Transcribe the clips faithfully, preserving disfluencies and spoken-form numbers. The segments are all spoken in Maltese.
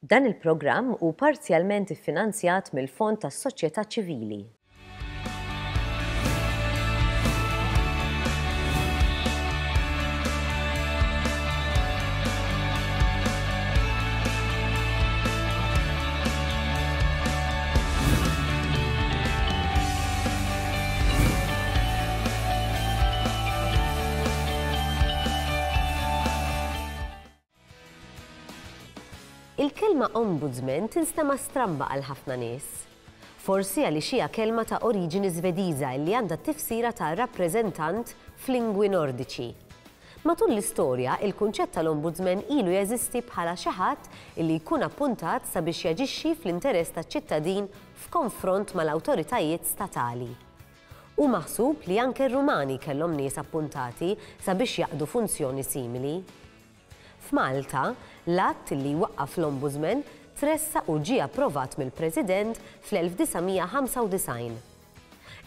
Dan il-programm hu parzjalment iffinanzjat mill-Fond tas-Soċjetà Ċivili. Il-kelma ombudsman tinstema' stramba għal ħafna nies. Forsi għaliex hija kelma ta' oriġini Svediża li għandha tifsira ta' rappreżentant f'lingwi Nordiċi. Matul l-istorja, il-kunċett tal-ombudsman ilu jeżisti bħala xi ħadd li jkun appuntat sabiex jaġixxi fl-interess taċ-ċittadin f'konfront mal-awtoritajiet statali. Hu maħsub li anke r-Rumani kellhom nies appuntati sabiex jaqdu funzjoni simili. F'Malta, l-att li waqqaf l-Ombudsman tressaq u ġie approvat mill-President fl-elf disa' mija ħamsa u disgħin.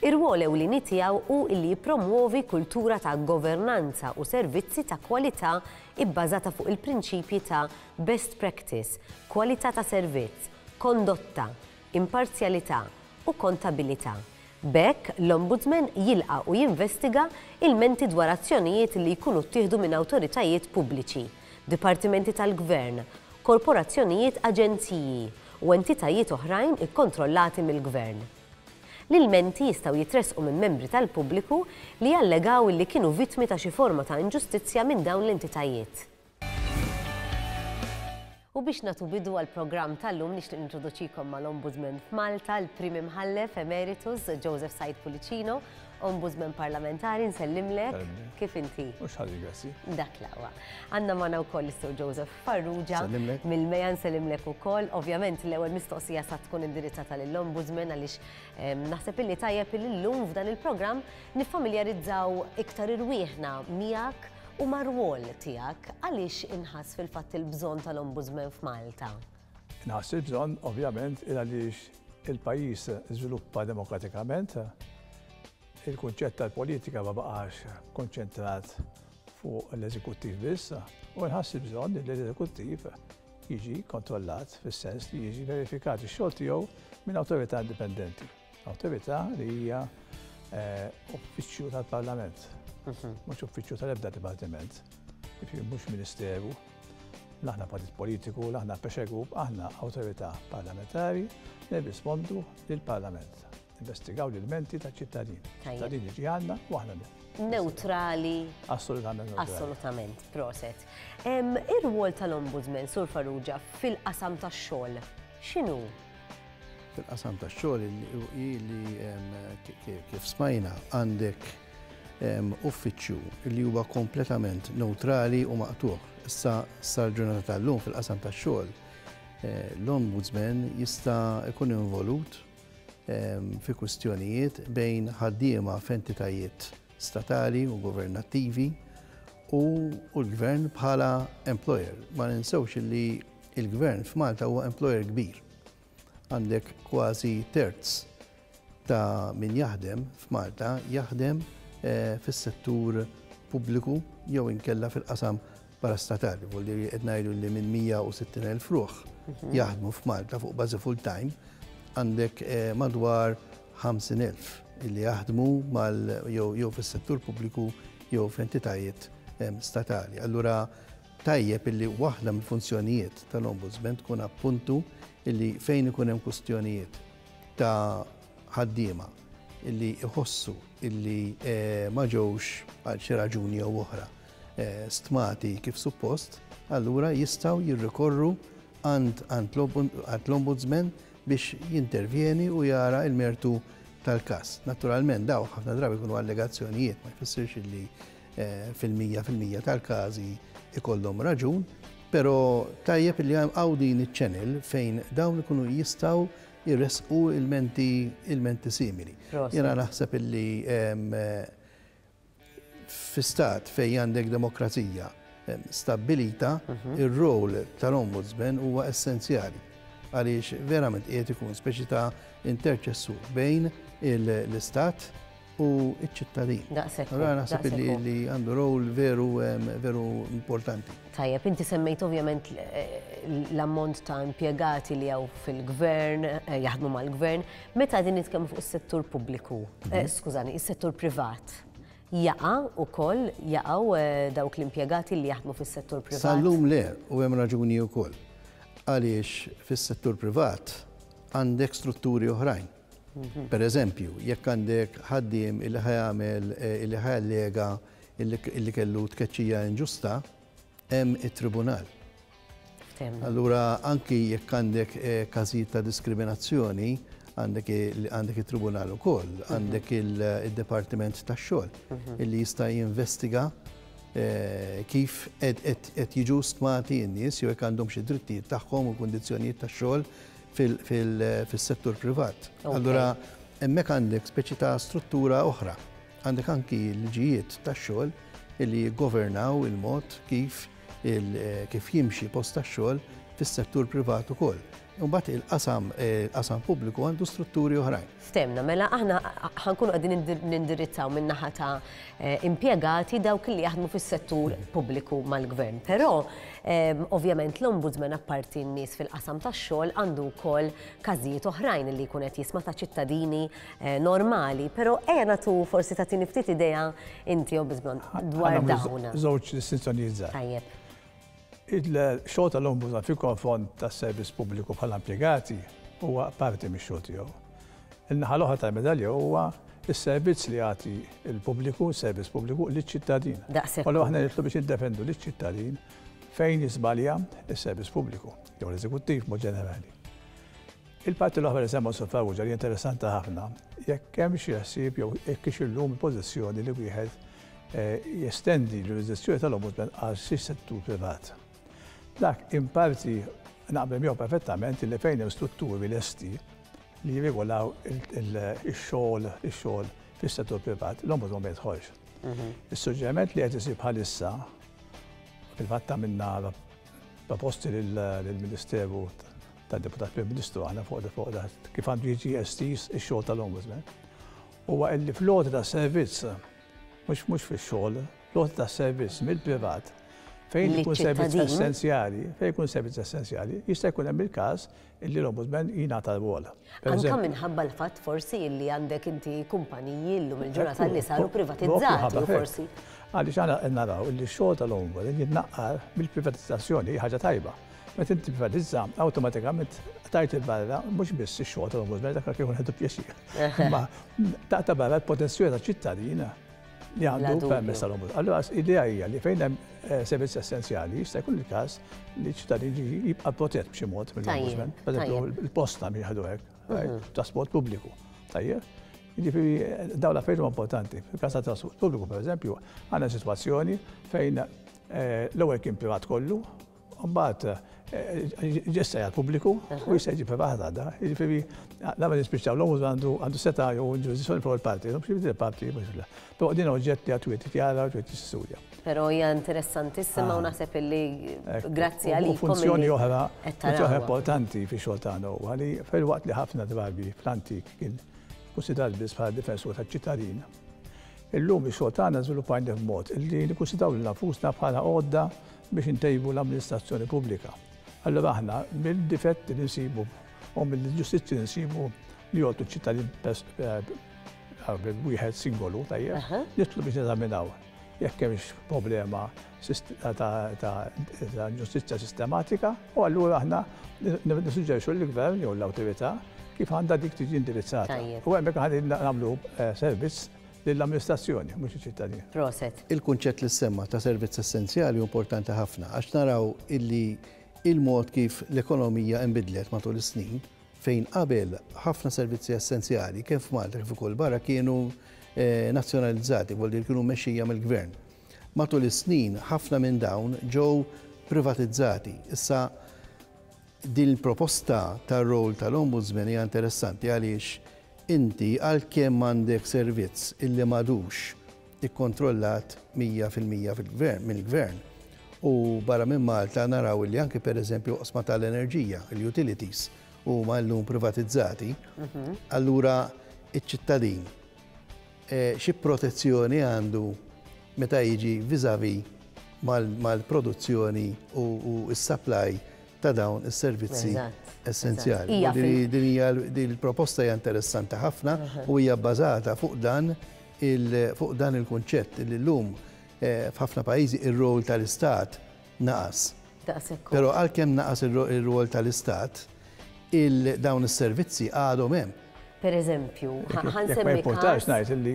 Ir-rwol ewlieni tiegħu hu li jippromwovi kultura ta' governanza u servizzi ta' kwalità ibbażata fuq il-prinċipji ta' best practice, kwalità ta' servizz, kondotta, imparzjalità u kontabilità. B'hekk, l-Ombudsman jilqa' u jinvestiga ilmenti dwar azzjonijiet li jkunu ttieħdu minn awtoritajiet pubbliċi, dipartimenti tal-gvern, korporazzjonijiet, aġenziji u entitajiet oħrajn ikkontrollati mill-gvern. L-ilmenti jistgħu jitressqu minn membri tal-pubbliku li jallegaw li kienu vittmi ta' xi forma ta' inġustizzja minn dawn l-entitajiet. U biex nagħtu bidu għall-programm tal-lum nixtieq nintroduċikom mal-Ombudsman f'Malta, l-Prim Imħallef Emeritus Joseph Said Pullicino, Ombudsman Parlamentari, nsellimlek. Sellimlek. Kif inti? Mhux ħażin, grazzi. Dak l-aqwa. Għandna magħna wkoll is-Sur Joseph Farrugia. Sellimlek. Mill-Meja nsellimlek ukoll. Ovvjament l-ewwel mistoqsija sa tkun indirizzata lill-Ombudsman għaliex, ehm, naħseb illi tajjeb illi llum f'dan il-programm niffamiljarizzaw iktar irwieħna miegħek u mar-rwol tiegħek. Għaliex inħass fil-fatt il-bżonn tal-Ombudsman f'Malta? Inħass il-bżonn ovvjament għaliex il-pajjiż żviluppa demokratikament, il-kunċett tal-politika ma baqax konċentrat fuq l-eżekuttiv biss, u nħass il-bżonn li l-eżekuttiv jiġi kontrollat fis-sens li jiġi verifikat ix-xogħol tiegħu minn awtorità indipendenti. Awtorità li hija, eh, uffiċċju tal-Parlament, Mhm. mhux uffiċċju tal-ebda dipartiment, jiġifieri mhux ministeru, l'aħna partit politiku, l'aħna pressure group, aħna awtorità parlamentari li nirrispondu lill-Parlament. Investigaw l-ilmenti ta' ċittadin. Tajjeb. Ċittadin jiġi għandna u aħna le. Neutrali. Assolutament neutrali. Assolutament, proset. Em, ir-rwol tal-Ombudsman, Sur Farrugia, fil-qasam tax-xogħol, x'inhu? Fil-qasam tax-xogħol li, li, em, ki-, ki-, kif smajna għandek, em, uffiċċju li huwa kompletament neutrali u maqtuħ. Issa sal-ġurnata tal-lum fil-qasam tax-xogħol, eh, l-Ombudsman jista' jkun involut, em, fi kwistjonijiet bejn ħaddiema f'entitajiet statali u governattivi u, u l-gvern bħala employer. Ma ninsewx li l-gvern f'Malta huwa employer kbir. Għandek kważi terz ta' min jaħdem f'Malta jaħdem, eh, fis-settur pubbliku jew inkella fil-qasam parastatali. Vuol dire qed ngħidu li minn mija u sittin elf ruħ Mhm. jaħdmu f'Malta fuq bażi full-time, għandek, eh, madwar ħamsin elf illi jaħdmu mal jew, jew fis-settur pubbliku jew f'entitajiet, em, statali. Allura tajjeb illi waħda mill-funzjonijiet tal-Ombudsman tkun appuntu illi fejn ikun hemm kwistjonijiet ta' ħaddiema illi iħossu illi, eh, ma ġewx għal xi raġuni jew oħra, eh, stmati kif suppost, allura jistgħu jirrikorru għand, għand l-, l-Ombudsman biex jintervjeni u jara il-mertu tal-kas. Naturalment daw ħafna drabi jkunu allegazzjonijiet, ma jfissirx illi, eh, fil-mija fil-mija tal-każi ikollhom raġun, però tajjeb illi hawn din iċ-channel fejn dawn ikunu jistgħu jirresqu il-menti, il-menti simili. Proset. Jiena naħseb illi, em, fi stat fejn għandek demokrazija, em, stabbilita, Mhm. ir-rol tal-Ombudsman huwa essenzjali għaliex verament qiegħed ikun speċi ta' interċessur bejn il-istat u ċ-ċittadin. Allora naħseb li għandu rol veru veru importanti. Tajjeb, inti semmejt ovvjament l-ammont ta' impjegati li hawn fil-gvern, jaħdmu mal-gvern. Meta din nitkellmu fuq is-settur pubbliku, skużani, is-settur privat, jaqa' ukoll jaqgħu dawk l-impjegati li jaħdmu fis-settur privat? Sal-lum le, u hemm raġuni wkoll. Għaliex fis-settur privat għandek strutturi oħrajn. Per eżempju, jekk għandek ħaddiem illi ħajamel illi ħajallega illi kellu tkeċċija inġusta, hemm it-tribunal. Allura anki jekk għandek każijiet ta' diskriminazzjoni, għandek it-tribunal ukoll, għandek il-Dipartiment tax-xogħol illi jista' jinvestiga kif qed jiġu stmati n-nies jew jekk għandhom xi drittijiet tagħhom u kundizzjonijiet tax-xogħol fil-settur privat. Allura hemmhekk għandek speċi ta' struttura oħra. Għandek anki liġijiet tax-xogħol illi jiggovernaw il-mod kif kif jimxi post tax-xogħol fis-settur privat ukoll. Imbagħad il-qasam il-qasam pubbliku għandu strutturi oħrajn. Stemna, mela aħna ħankunu qegħdin nindirizzaw min-naħa ta' impjegati dawk li jaħdmu fis-settur pubbliku mal-gvern. Però ovvjament l-Ombudsman apparti n-nies fil-qasam tax-xogħol għandu wkoll każijiet oħrajn li jkun qed jisma' ta' ċittadini normali, però ejja nagħtu forsi tagħtini ftit idea inti Ombudsman dwar dawn. Żewġ distinzjonijiet żgħar. Tajjeb. Il-xogħol tal-Ombudsman fil-konfront tas-servizz pubbliku bħala impjegati huwa parti mix-xogħol tiegħu. In-naħa l-oħra tal-medalja huwa s-servizz li jagħti l-pubbliku, s-servizz pubbliku liċ-ċittadin. Allura aħna nitlu biex niddefendu liċ-ċittadin fejn jiżbalja s-servizz pubbliku jew l-eżekuttiv mod ġenerali. Il-parti l-oħra li semma Sur Farrugia li interessanti ħafna, jekk hemm xi ħsieb jew jekk hix illum il-pożizzjoni li wieħed jestendi l-ġurisdizzjoni tal-Ombudsman għal xi settur privat. Dak in parti naqbel miegħu perfettament li fejn hemm strutturi lesti li jirregolaw ix-xogħol ix-xogħol fis-settur privat, l-Ombudsman ma jidħolx. Is-suġġeriment li qed isir bħalissa fil-fatt għamilna proposti lill-Ministeru tad-Deputat Prim Ministru aħna fuq fuq kif għandu jiġi estiż ix-xogħol tal-Ombudsman. Huwa li fl-għoti tas-servizz mhux mhux fix-xogħol, l-għoti tas-servizz mill-privat fejn ikun servizz essenzjali, fejn ikun servizz essenzjali, jista' jkun hemm il-każ illi l-Ombudsman jingħata rwol. Anke minħabba l-fatt forsi illi għandek inti kumpaniji llum il-ġurnata li saru privatizzati u forsi. Għaliex aħna qed naraw illi x-xogħol tal-Ombudsman jitnaqqar mill-privatizzazzjoni hija ħaġa tajba. Meta inti privatizza, awtomatikament tajt il-barra mhux biss ix-xogħol tal-Ombudsman dak kif ħedu pjaċir. Ma taqta' barra l-potenzjali taċ-ċittadin li għandu permess tal-Ombudsman. Allura l-idea hija li fejn hemm servizz essenzjali jista' jkun il-każ li ċ-ċittadin jibqa' protett b'xi mod mill-Ombudsman. Pereżempju, il-posta mi jieħdu hekk, trasport pubbliku. Tajjeb? Jiġifieri dawn l-affarijiet huma importanti. Fil-każ ta' trasport pubbliku, pereżempju, għandna sitwazzjoni fejn l-ewwel kien privat kollu, mbagħad ġessa jgħal pubbliku u jista' jiġi privat għadha. Jiġifieri la nispiċċaw l-Ombudsman għandu seta' jew ġurisdizzjoni fuq il-parti, mhux il-parti mhux il. Però din oġġett li għad wieħed jara u wieħed jistudja. Però hija interessantissima u naħseb illi grazzi għalikom. Funzjoni oħra, funzjoni importanti fix-xogħol tagħna huwa li fil-waqt li ħafna drabi fl-antik kien konsidrat biss bħala difensur taċ-ċittadin. Illum ix-xogħol tagħna żviluppajna b'mod illi nikkunsidraw lil nfusna bħala għodda biex intejbu l-amministrazzjoni pubblika. Allura aħna mill-difetti li nsibu u mill-ġustizzji li nsibu li jolqtu ċ-ċittadin wieħed singolu tajjeb, nitlu biex neżaminaw jekk hemmx problema ta' ġustizzja sistematika u allura aħna nissuġġerixxu lill-gvern jew l-awtorità kif għandha dik tiġi indirizzata. U hemmhekk aħna nagħmlu servizz lill-amministrazzjoni, mhux iċ-ċittadin. Proset. Il-kunċett li semma ta' servizz essenzjali hu importanti ħafna għax naraw illi il-mod kif l-ekonomija nbidlet matul is-snin fejn qabel ħafna servizzi essenzjali kemm f'Malta kif ukoll barra kienu nazzjonalizzati, vuol dire kienu mmexxija mill-gvern. Matul is-snin ħafna minn dawn ġew privatizzati. Issa din il-proposta tar-rol tal-Ombudsman hija interessanti għaliex inti għalkemm għandek servizz illi m'għadux ikkontrollat mija fil-mija fil-gvern mill-gvern. U barra minn Malta naraw li anke pereżempju oqsma tal-enerġija, il-utilities, huma llum privatizzati, allura iċ-ċittadin xi protezzjoni għandu meta jiġi vis-à-vis mal-produzzjoni u s-supply ta' dawn is-servizzi essenzjali. Din hija il-proposta hija interessanti ħafna u hija bbażata fuq dan fuq dan il-kunċett li llum f'ħafna pajjiżi ir-rol tal-Istat naqas. Però għalkemm naqas ir-rol tal-Istat, dawn is-servizzi għadhom hemm. Per eżempju, ħa nsemmi. Ma importax ngħid li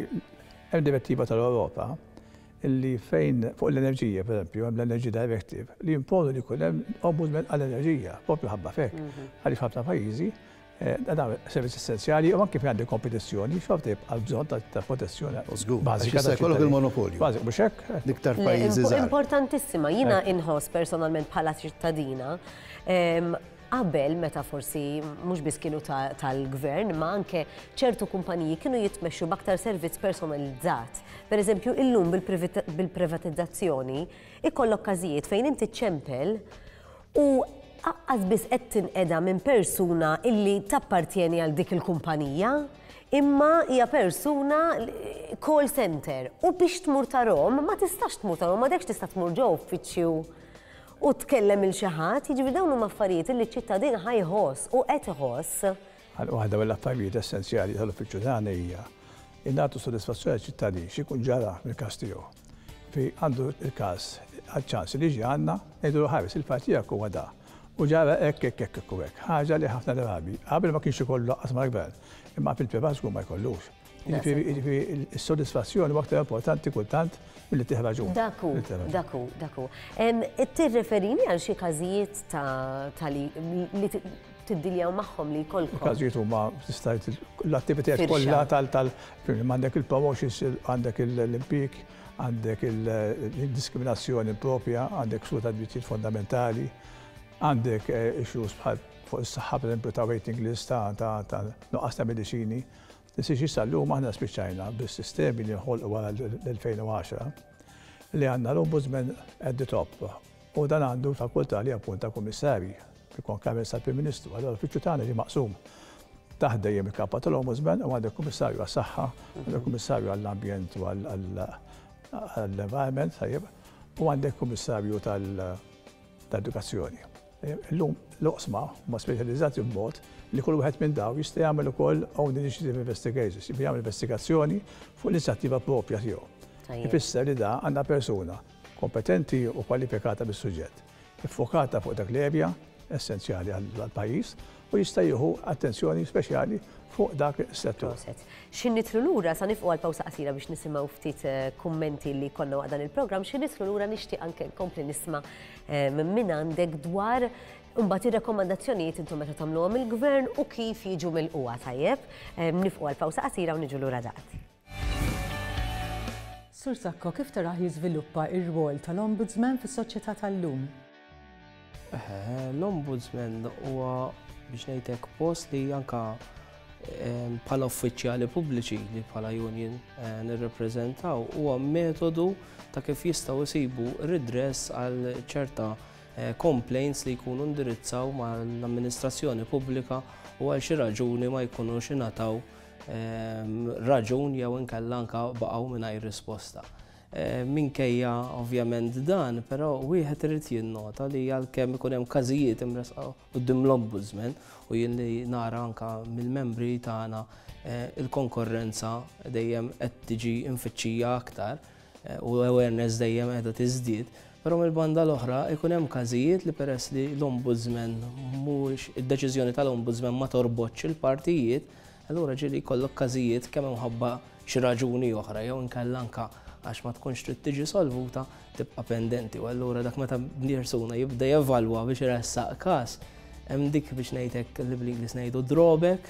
hemm direttiva tal-Ewropa illi fejn fuq l-enerġija, per eżempju, hemm l-Energy Directive li jimponu li jkun hemm ombudsman għall-enerġija, propju ħabba fek. Għaliex ħafna pajjiżi dan servizz essenzjali u anke fejn għandek kompetizzjoni, xorta jibqa' bżonn ta' protezzjoni bażika. Issa jkollok il-monopolju. Bażik, mhux hekk? L-iktar pajjiżi żgħar. Importantissima, jiena inħoss personalment bħala ċittadina, qabel meta forsi mhux biss kienu tal-gvern, ma anke ċertu kumpaniji kienu jitmexxu b'aktar servizz personalizzat. Per eżempju, illum bil-privatizzazzjoni ikollok każijiet fejn inti ċempel u aqqas biss qed tinqeda minn persuna illi tappartjeni għal dik il-kumpanija, imma hija persuna call center. U biex tmur tarhom, ma tistax tmur tarhom, ma dekx tista' tmur ġo uffiċċju u tkellem il xi ħadd, jiġifieri dawn huma affarijiet li ċ-ċittadin ħa jħoss u qed iħoss. Waħda mill-affarijiet essenzjali tal-uffiċċju tagħna hija nagħtu sodisfazzjoni għaċ-ċittadin x'ikun ġara mill-każ tiegħu. Fi għandu il-każ għal-ċans li ġi għandna ngħidu ħares il-fatt tiegħek huwa da. U ġara hekk hekk hekk u hekk. Ħaġa li ħafna drabi qabel ma kienx ikollu lanqas mal-gvern, imma fil-privat żgur ma jkollux. Jiġifieri s-sodisfazzjoni huwa aktar importanti kultant milli tieħu raġun. Daku, daku, daku. Tirreferini għal xi każijiet ta' li tiddiljaw magħhom li jkollkom? Każijiet huma tista' l-attivitajiet kollha tal tal għandek il-promotions, għandek l-impjieg, għandek il-diskriminazzjoni propja, għandek ksur ta' drittijiet fondamentali, għandek issues bħal fuq is-saħħa pereżempju ta' waiting list ta' nuqqas ta' mediċini. Nisiex sal-lum aħna spiċċajna bis-sistemi li nħolqu wara l-elfejn u għaxra li għandna l-Ombudsman at the top u dan għandu fakultà li appunta kummissarji ikun kamel sal-Prim Ministru. Allora l-uffiċċju tagħna ġie maqsum taħt dejjem il-kapa tal-Ombudsman u għandek kummissarju għas-saħħa, għandek kummissarju għall-ambjent u għall-environment, tajjeb, u għandek kummissarju tal-edukazzjoni. Illum l-oqsma huma speċjalizzati b'mod li kull wieħed minn daw jista' jagħmel ukoll own initiative investigations, jagħmel investigazzjoni fuq l-inizjattiva propja tiegħu. Ifisser li da għandna persuna kompetenti u kwalifikata bis-suġġett, iffokata fuq dak l-erja essenzjali għall-pajjiż u jista' jieħu attenzjoni speċjali fuq dak is-settur. Xi nitlu lura sa nifqu għal pawsa qasira biex nisimgħu ftit kummenti li konna waqt dan il-programm, xi nitlu lura nixtieq anke nkompli nisma' minn għandek dwar imbagħad ir-rakkomandazzjonijiet intom meta tagħmluhom il-gvern u kif jiġu mill-qwa tajjeb. Nifqu għal pawsa qasira u niġu lura daqt. Sur Sacco, kif tarah jiżviluppa ir-rwol tal-Ombudsman fis-soċjetà tal-lum? L-Ombudsman huwa biex ngħidlek post li anka bħala uffiċjali pubbliċi li bħala union nirrepreżentaw huwa metodu ta' kif jistgħu jsibu redress għal ċerta complaints li jkunu indirizzaw mal-amministrazzjoni pubblika u għal xi raġuni ma jkunux ingħataw raġun jew inkella anka baqgħu mingħajr risposta. Minkejja ovvjament dan, però wieħed irid jinnota li għalkemm ikun hemm każijiet imresqa quddiem l-Ombudsman u jien li nara anka mill-membri tagħna il-konkorrenza dejjem qed tiġi infittxija aktar u awareness dejjem qiegħda tiżdied, però mill-banda l-oħra ikun hemm każijiet li peress li l-Ombudsman mhux id-deċiżjoni tal-Ombudsman ma torbotx il-partijiet, allura ġieli jkollok każijiet kemm imħabba xi raġuni oħra jew inkella anka għax ma tkunx trid tiġi solvuta tibqa' pendenti. U allura dak meta persuna jibda jevalwa biex iressaq każ, hemm dik biex ngħidlek li bl-Ingliż ngħidu drawback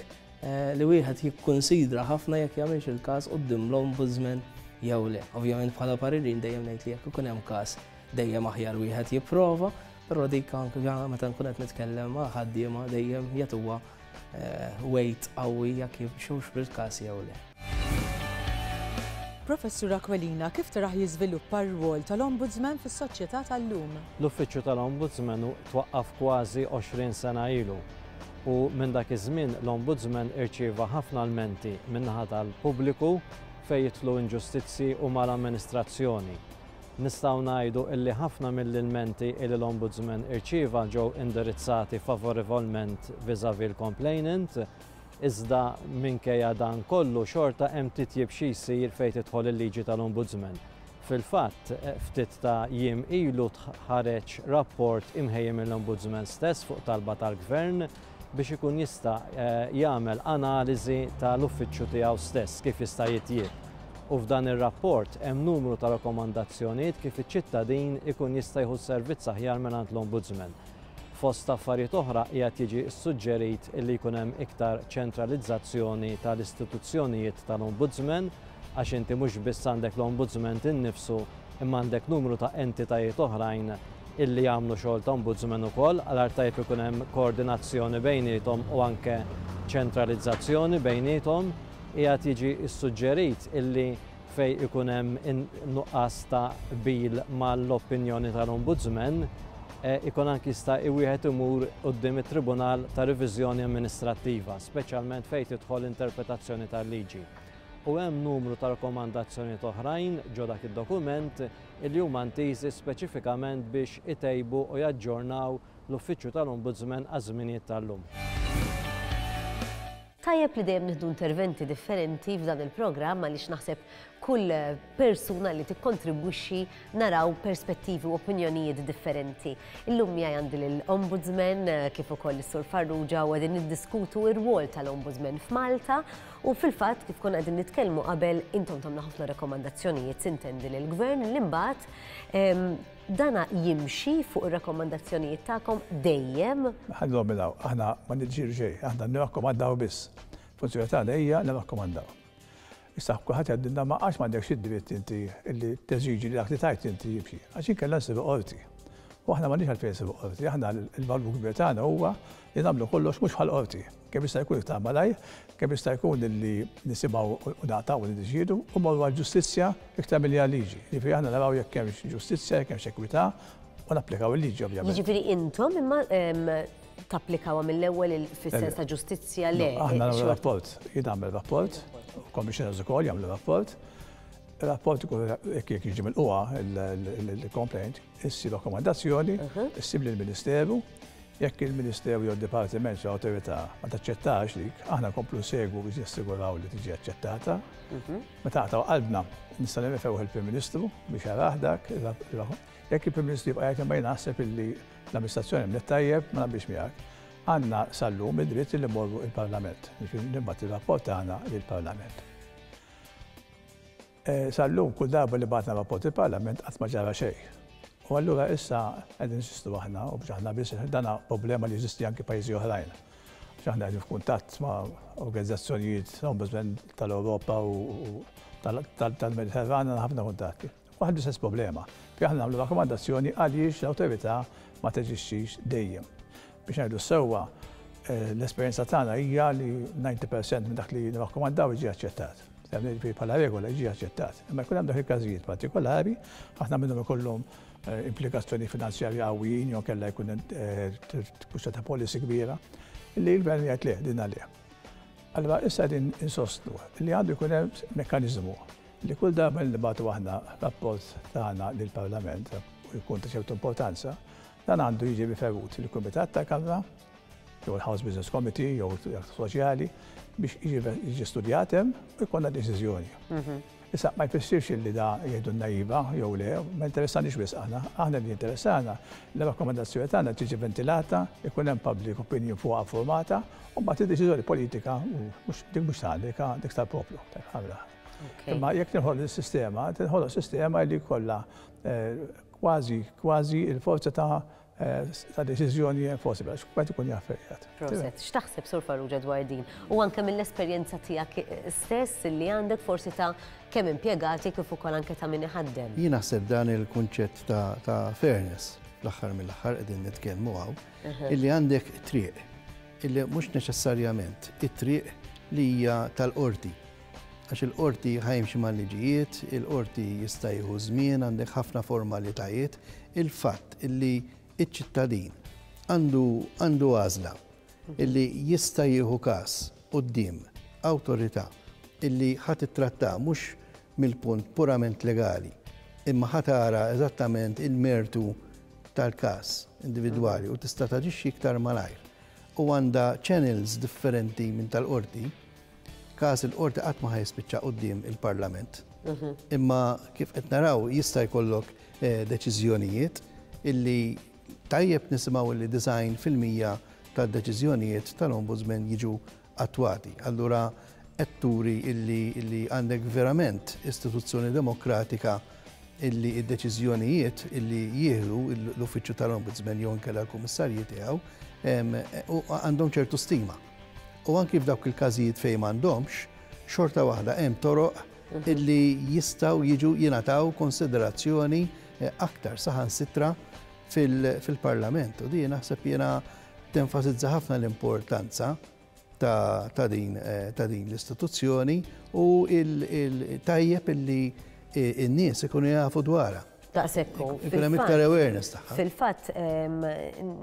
li wieħed jikkunsidra ħafna jekk jagħmilx il-każ quddiem l-Ombudsman jew le. Ovvjament bħala paririn dejjem ngħid li jekk ikun hemm każ dejjem aħjar wieħed jipprova, però dik anke meta nkun qed nitkellem ma' ħaddiema dejjem jagħtuha weight qawwi jekk jimxux bil-każ jew le. Professur Aquilina, kif tarah jiżviluppa r-rwol tal-Ombudsman fis-soċjetà tal-lum? L-Uffiċċju tal-Ombudsman twaqqaf kważi għoxrin sena ilu u minn dak iż-żmien l-Ombudsman irċieva ħafna lmenti min-naħa tal-pubbliku fejn jidħlu inġustizzi u mal-amministrazzjoni. Nistgħu ngħidu illi ħafna mill-ilmenti illi l-Ombudsman irċieva ġew indirizzati favorevolment vis-à-vis l-complainant, iżda minkejja dan kollu xorta hemm titjib xi jsir fejn tidħol il-liġi tal-Ombudsman. Fil-fatt, ftit ta' jiem ilu ħareġ rapport imħejji mill-Ombudsman stess fuq talba tal-Gvern biex ikun jista' jagħmel analiżi tal-uffiċċju tiegħu stess kif jista' jitjieb. U f'dan ir-rapport hemm numru ta' rakkomandazzjonijiet kif iċ-ċittadin ikun jista' jieħu servizz aħjar mingħand l-Ombudsman. Fost affarijiet oħra qiegħed jiġi ssuġġerit illi jkun hemm iktar ċentralizzazzjoni tal-istituzzjonijiet tal-Ombudsman, għax inti mhux biss għandek l-Ombudsman innifsu imma għandek numru ta' entitajiet oħrajn illi jagħmlu xogħol ta' Ombudsman ukoll, għal tajjeb ikun hemm koordinazzjoni bejniethom u anke ċentralizzazzjoni bejniethom. Qiegħed jiġi ssuġġerit illi fej ikun hemm nuqqas ta' qbil mal-opinjoni tal-Ombudsman, ikun anki jista' wieħed imur quddiem it-Tribunal ta' Reviżjoni Amministrattiva, speċjalment fejn tidħol interpretazzjoni tal-liġi. U hemm numru ta' rakkomandazzjonijiet oħrajn ġo dak id-dokument illi huma ntiżi speċifikament biex itejbu u jaġġornaw l-Uffiċċju tal-Ombudsman għaż-żminijiet tal-lum. Tajjeb li dejjem nieħdu interventi differenti f'dan il-programm għaliex naħseb kull persuna li tikkontribwixxi naraw perspettivi u opinjonijiet differenti. Illum miegħi għandi lill-Ombudsman kif ukoll is-Sur Farrugia u qegħdin niddiskutu r-rwol tal-Ombudsman f'Malta u fil-fatt kif konna qegħdin nitkellmu qabel intom tagħmlu ħafna rakkomandazzjonijiet sintendi lill-Gvern li mbagħad dana jimxi fuq ir-rakkomandazzjonijiet tagħkom dejjem. Ħallu milaw, aħna ma niġġielu xejn, aħna nirrakkomandaw biss. Funzjoni tagħna hija nirrakkomandaw. Issa kulħadd jgħidilna ma għax m'għandekx id-dritt inti li teżiġi li dak li tajt inti jimxi, għax inkella nsibu qorti. U aħna m'għandniex għalfejn nsibu qorti, aħna l-valur kbir tagħna huwa li nagħmlu kollox mhux bħal qorti. Kemm jista' jkun iktar malajr, kemm jista' jkun li nisimgħu u naqtgħu u niddeċiedu u mmorru għall-ġustizzja iktar milli għal-liġi. Jiġifieri aħna naraw jekk hemmx ġustizzja, jekk hemmx ekwità u napplikaw il-liġi ovvjament. Jiġifieri intom imma tapplikawha mill-ewwel fis-sens ta' ġustizzja le. Aħna nagħmlu rapport, jien nagħmel rapport, commissioners ukoll jagħmlu rapport. Il-rapport ikun jekk jiġi mill-qwa il-complaint, issir rakkomandazzjoni, issir lill-Ministeru. Jekk il-Ministeru jew il-Dipartiment jew awtorità ma taċċettax dik, aħna nkomplu nsegwu biex jassiguraw li tiġi aċċettata. Meta naqtgħu qalbna nista' nirreferu il-Prim Ministru biex jarah dak. Jekk il-Prim Ministru jibqa' jgħid imma jien naħseb illi l-amministrazzjoni mlet tajjeb ma naqbilx miegħek. Għandna sal-lum id-dritt li mmorru il-Parlament, nibgħat ir-rapport tagħna lill-Parlament. Sal-lum kull darba li bagħatna rapport il-Parlament qatt ma ġara xejn. U allura issa qegħdin insistu aħna u biex aħna biss dana problema li jeżisti anke pajjiżi oħrajn. Biex aħna qegħdin f'kuntatt ma' organizzazzjonijiet Ombudsman tal-Ewropa u tal-Mediterran għandna ħafna kuntatti. Waħed l-istess problema. Fi aħna nagħmlu rakkomandazzjoni għaliex l-awtorità ma teġixxix dejjem. Biex ngħidu sewwa l-esperjenza tagħna hija li disgħin percent minn dak li nirrakkomandaw jiġi aċċettat. Bħala regola jiġi aċċettat. Imma jkun hemm dak il-każijiet partikolari, ħafna minnhom ikollhom implikazzjoni finanzjarja qawwijin jew kellha jkun kwistjoni ta' policy kbira, li l-gvern jgħid le din għalih. Allura issa qegħdin insostnu li għandu jkun hemm mekkaniżmu li kull darba li nibgħatu aħna rapport tagħna lill-Parlament u jkun ta' ċertu importanza, dan għandu jiġi riferut lill-Kumitat tal-Kamra jew il-House Business Committee jew soċjali biex jiġi studjat hemm u jkollna deċiżjoni. Issa ma jfissirx li da jgħidu naiva jew le, ma interessanix biss aħna, aħna li interessana li rakkomandazzjoni tagħna tiġi ventilata, ikun hemm public opinion fuqha formata, u mbagħad id-deċiżjoni politika mhux dik mhux tagħna, dik tal-poplu, tal-Kamra. Imma jekk tinħoloq is-sistema, tinħoloq sistema li jkollha kważi kważi il-forza ta' ta' deċiżjoni enforceable, għax kulħadd ikun jaf fejn qiegħed. Proset, x'taħseb Sur Farrugia dwar din? U anke mill-esperjenza tiegħek stess li għandek forsi ta' kemm impjegati kif ukoll anke ta' min iħaddem. Jien naħseb dan il-kunċett ta' fairness fl-aħħar mill-aħħar qegħdin nitkellmu hawn, illi għandek triq, illi mhux neċessarjament it-triq li hija tal-qorti. Għax il-qorti ħajmxi mal-liġijiet, il-qorti jista' jieħu żmien, għandek ħafna formalitajiet, il-fatt illi iċ-ċittadin għandu għandu għażla illi jista' jieħu każ quddiem awtorità illi ħadd ittratta mhux mill-punt purament legali, imma ħa tara eżattament il-mertu tal-każ individwali u tista' taġixxi iktar malajr. U għandha channels differenti minn tal-qorti, każ il-qorti qatt ma ħa jispiċċa quddiem il-Parlament. Imma kif qed naraw, jista' jkollok eh, deċiżjonijiet illi tajjeb nisimgħu li disgħin fil-mija tad-deċiżjonijiet tal-Ombudsman jiġu attwati. Allura qed turi illi, illi għandek verament istituzzjoni demokratika illi id-deċiżjonijiet illi jieħdu l-Uffiċċju tal-Ombudsman jew inkella l-Kummissarji tiegħu u għandhom ċertu stima. U anki f'dawk il-każijiet fejn m'għandhomx, xorta waħda hemm toroq illi jistgħu jiġu jingħataw konsiderazzjoni eh, aktar saħansitra fil-Parlament. U din naħseb jiena tenfasizza ħafna l-importanza ta', ta din, eh, ta' din l-istituzzjoni u il-tajjeb illi in-nies ikunu jafu dwarha. Daqshekk. Ikun hemm iktar awareness tagħha. Fil-fatt,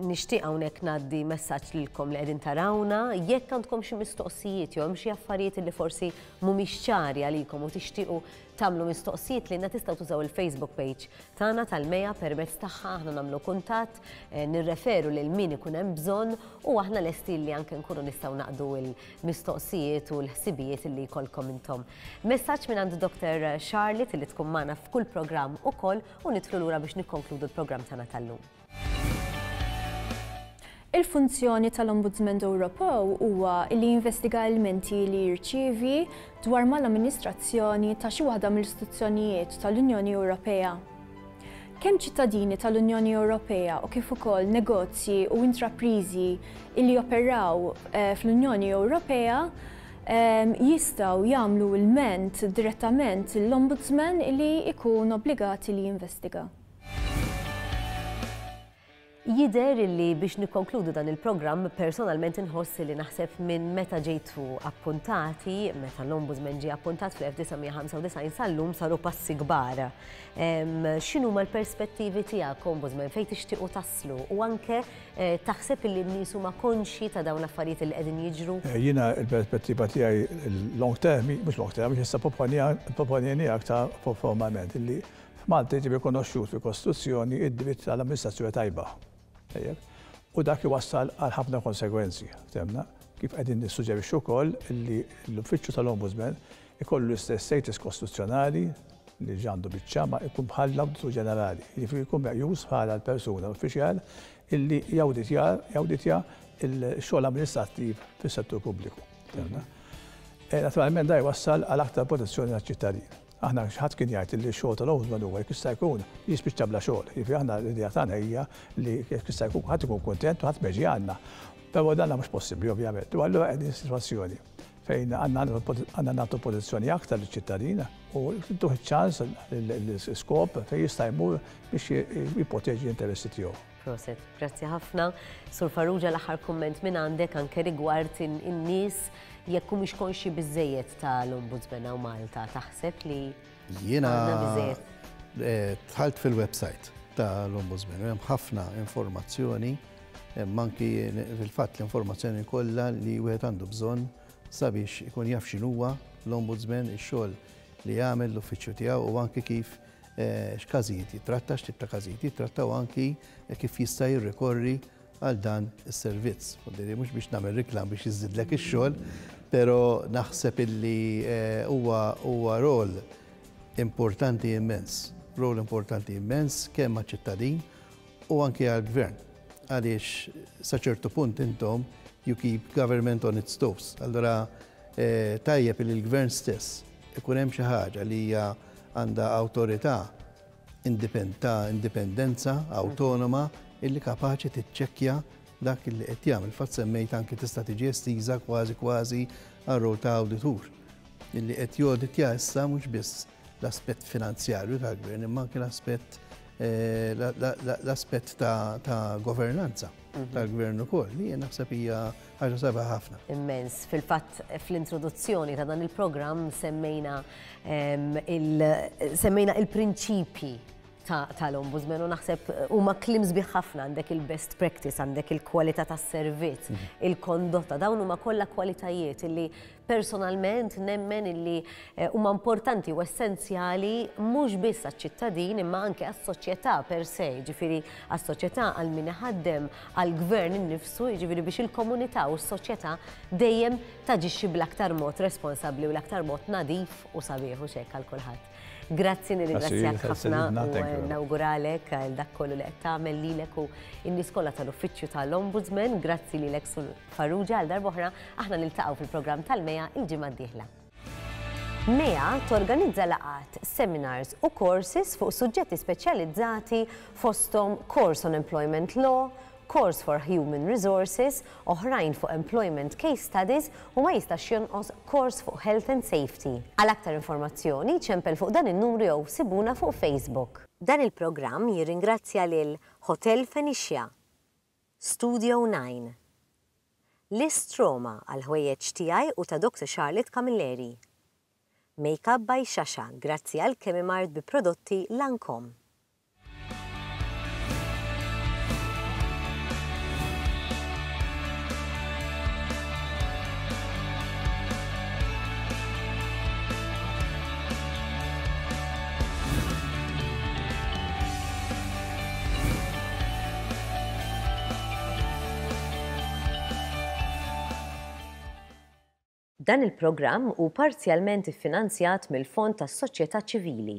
nixtieq hawnhekk ngħaddi messaġġ lilkom li qegħdin tarawna, jekk għandkom xi mistoqsijiet jew hemm xi affarijiet li forsi mhumiex ċari għalikom u tixtiequ tagħmlu mistoqsijiet lilna, tistgħu tużaw il-Facebook page tagħna tal-MEIA. Permezz tagħha aħna nagħmlu kuntatt, eh, nirreferu lil min ikun hemm bżonn u aħna lesti li anke nkunu nistgħu naqdu l-mistoqsijiet u l-ħsibijiet li jkollkom intom. Messaġġ minn għand Doctor Charlotte li tkun magħna f'kull programm ukoll u nidħlu lura biex nikkonkludu l-programm tagħna tal-lum. Il-funzjoni tal-Ombudsman Ewropew huwa li jinvestiga ilmenti li jirċievi dwar mal-amministrazzjoni ta' xi waħda mill-istituzzjonijiet tal-Unjoni Ewropea. Kemm ċittadini tal-Unjoni Ewropea u kif ukoll negozji u intraprizi li joperaw eh, fl-Unjoni Ewropea jistgħu jagħmlu ilment direttament l-Ombudsman li ikun obbligati li jinvestiga. Jidher li biex nikkonkludu dan il-programm, personalment inħoss li naħseb minn meta ġejtu appuntati, meta l-Ombudsman ġie appuntat fl-elf disa' mija ħamsa u disgħin sal-lum saru passi kbar. X'inhuma l-perspettivi tiegħek, Ombudsman, fejn tixtiequ taslu u anke eh, taħseb li n-nies huma konxi ta' dawn l-affarijiet li qegħdin jiġru? Eh, jiena il-perspettiva tiegħi long term, mhux long term, issa proponini aktar formalment illi f'Malta jiġi rikonoxxut fil-Kostituzzjoni id-dritt tal-amministrazzjoni tajba. U dak iwassal għal ħafna konsegwenzi. Temna, kif qegħdin nissuġġerixxu wkoll li l-Uffiċċju tal-Ombudsman ikollu l-istess status kostituzzjonali li għandu biċċa, ma ikun bħal l-Awditur Ġenerali. Jiġifieri jkun meqjus bħala l-persuna uffiċjal illi jawditja jawditja il-xogħol amministrattiv fis-settur pubbliku. E, naturalment da jwassal għal aktar protezzjoni għal-ċittadin. Aħna ħadd kien jgħid li x-xogħol tal-Ombudsman huwa jekk jista' jkun jispiċċa bla xogħol. Jiġifieri aħna l-idea tagħna hija li jekk jista' jkun ħadd ikun kuntent u ħadd ma jiġi għandna. Però dan mhux possibbli, ovvjament. U allura qegħdin sitwazzjoni fejn għandna nagħtu protezzjoni aktar liċ-ċittadin u ntuh ċans l-iskop fejn jista' jmur biex jipproteġi l-interessi tiegħu. Prosit, grazzi ħafna. Sur Farrugia, l-aħħar kumment minn għandek anke rigward in-nies, jekk mhux konxi biżejjed tal-Ombudsman hawn Malta, taħseb li Jiena għandna biżejjed? eh, dħalt fil-website tal-Ombudsman, u hemm ħafna informazzjoni, hemm anki fil-fatt l-informazzjoni kollha li wieħed għandu bżonn sabiex ikun jaf x'inhuwa l-Ombudsman, ix-xogħol li jagħmel l-uffiċċju tiegħu u anki kif eh, x'każijiet jitratta, x'tip ta' każijiet jitratta u anki kif jista' jirrikorri għal dan is-servizz. Voldiri, mhux biex nagħmel reklam biex jiżdidlek ix-xogħol, però naħseb illi eh, huwa huwa rol importanti immens. Rol importanti immens kemm għaċ-ċittadin u anki għall-gvern. Għaliex sa ċertu punt intom you keep government on its toes. Allora eh, tajjeb li l-gvern stess ikun hemm xi ħaġa li hija għandha awtorità ta' indipendenza autonoma illi kapaċi tiċċekkja dak illi qed jagħmel. Fatt semmejt anki tista' tiġi estiża kważi kważi għar-rol ta' awditur illi qed joditja issa mhux biss l-aspett finanzjarju tal-gvern, imma anke l-aspett eh, l-aspett ta' governanza mhm. tal-gvern ukoll, li jien naħseb hija ħaġa sabiħa ħafna. Immens. Fil-fatt, fl-introduzzjoni ta' dan il-programm semmejna semmejna il-prinċipji. Tal-ombudsman u naħseb huma kliem sbieħ ħafna, għandek il-best practice, għandek il-kwalità tas-servizz, mhm. il-kondotta, dawn huma kollha kwalitajiet illi personalment nemmen illi eh, huma importanti u essenzjali mhux biss għaċ-ċittadin imma anke għas-soċjetà per se, jiġifieri għas-soċjetà, għal min iħaddem, għall-gvern innifsu, jiġifieri biex il-komunità u s-soċjetà dejjem taġixxi bl-aktar mod responsabbli u l-aktar mod nadif u sabiħ u xek għal kulħadd. Grazzi, nirringrazzjak ħafna u nawguralek għal dak kollu li qed tagħmel lilek u n-nies kollha tal-Uffiċċju tal-Ombudsman. Grazzi lilek, Sur Farrugia, għal darb'oħra. Aħna niltaqgħu fil-programm tal-MEIA il-ġimgħa d-dieħla. MEIA torganizza laqgħat, seminars u courses fuq suġġetti speċjalizzati, fosthom Course on Employment Law, Course for Human Resources, oħrajn fuq Employment Case Studies u ma jistax jonqos course fuq Health and Safety. Għal aktar informazzjoni ċempel fuq dan in-numru jew sibuna fuq Facebook. Dan il-programm jirringrazzja lil Hotel Phoenicia, Studio nine, List Roma għal ħwejjeġ tiegħi u ta' Doctor Charlotte Camilleri, Makeup by Shasha, grazzi għal Kemimart bi prodotti Lancome. Dan il-programm hu parzjalment iffinanzjat mill-Fond tas-Soċjetà Ċivili.